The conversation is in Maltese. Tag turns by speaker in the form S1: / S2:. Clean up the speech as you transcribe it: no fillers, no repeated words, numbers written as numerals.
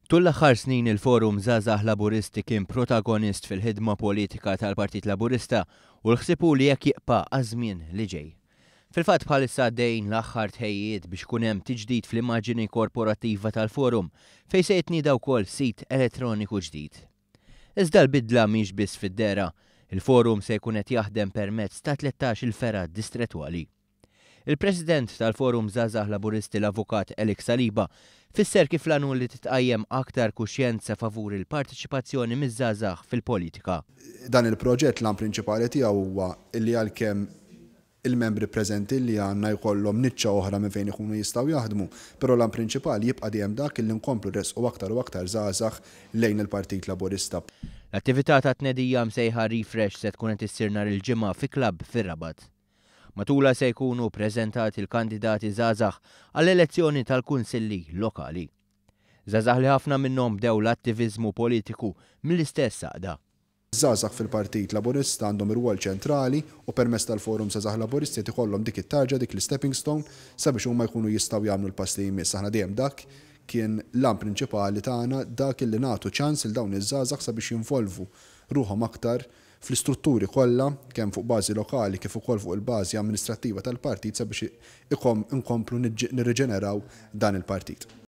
S1: Tul l-aħħar snin il-Forum Żgħażagħ Laburisti kien protagonist fil-ħidma politika tal-Partit Laburista u l-ħsieb hu li hekk jibqa' għaż-żmien li ġej. Fil-fatt bħalissa għaddejjin l-aħħar tħejjijiet biex ikun hemm tiġdid fl-immaġini korporattiva tal-Forum fejn se jitnieda wkoll sit elettroniku ġdid. Iżda l-bidla mhix biss fid-dehra, il-Forum se jkun qed jaħdem permezz ta' 13-il fergħa distrettwali. Il-President tal-Forum Żgħażagħ Laburisti l-Avukat Alex Saliba fisser kif l-għan hu li titqajjem aktar kuxjenza favur il-parteċipazzjoni miż-żgħażagħ fil-politika.
S2: Dan il-proġett l-għan prinċipali tiegħu huwa li għalkemm il-membri preżenti li għandna jkollhom niċċa oħra minn fejn ikunu jistgħu jaħdmu, però l-għan prinċipali jibqa' dejjem dak li nkomplu nressqu aktar u aktar żgħażagħ lejn il-Partit Laburista.
S1: L-attività ta' tnedija msejħa Refresh se tkun qed issir nhar il-Ġimgħa fi klabb fir-Rabat. Matulha se jkunu ppreżentati l-kandidati żgħażagħ għall-elezzjoni tal-kunsilli lokali. Żgħażagħ li ħafna minnhom bdew l-attiviżmu politiku mill-istess għaqda.
S2: Żgħażagħ fil-Partit Laburista għandhom irwol ċentrali u permezz tal-Forum Żgħażagħ Laburisti qed ikollhom dik it-tarġa, dik l-istepping stone sabiex huma jkunu jistgħu jagħmlu l-pass li jmiss. Aħna dejjem dak kien l-għan prinċipali tagħna, dak illi nagħtu ċans lil dawn iż-żgħażagħ sabiex jinvolvu ruħhom aktar fl-istrutturi kollha, kemm fuq bażi lokali kif ukoll fuq il-bażi amministrattiva tal-partit sabiex inkomplu nirriġeneraw dan il-partit.